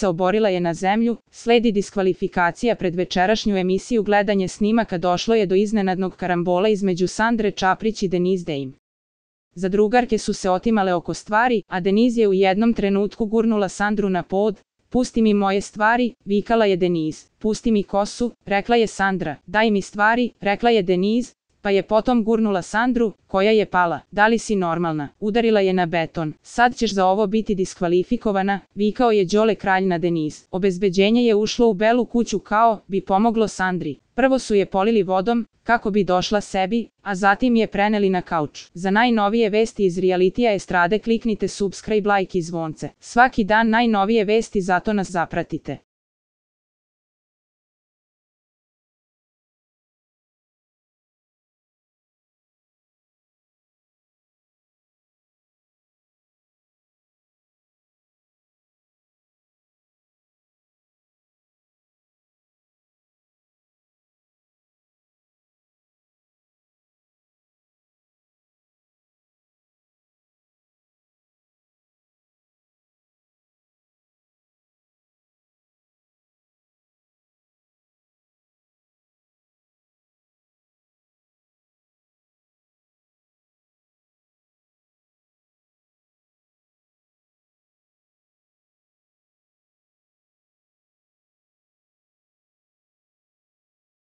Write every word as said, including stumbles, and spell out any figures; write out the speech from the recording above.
se oborila je na zemlju, sledi diskvalifikacija pred večerašnju emisiju gledanje snimaka došlo je do iznenadnog karambola između Sandre Čaprić i Denise Dame. Zadrugarke su se otimale oko stvari, a Denise je u jednom trenutku gurnula Sandru na pod. Pusti mi moje stvari, vikala je Denise. Pusti mi kosu, rekla je Sandra. Daj mi stvari, rekla je Denise, pa je potom gurnula Sandru, koja je pala. Da li si normalna? Udarila je na beton. Sad ćeš za ovo biti diskvalifikovana, vikao je Đole kralj na Denise. Obezbeđenje je ušlo u Belu kuću kao bi pomoglo Sandri. Prvo su je polili vodom, kako bi došla sebi, a zatim je preneli na kauč. Za najnovije vesti iz realitija estrade kliknite subscribe, like i zvonce. Svaki dan najnovije vesti, zato nas zapratite.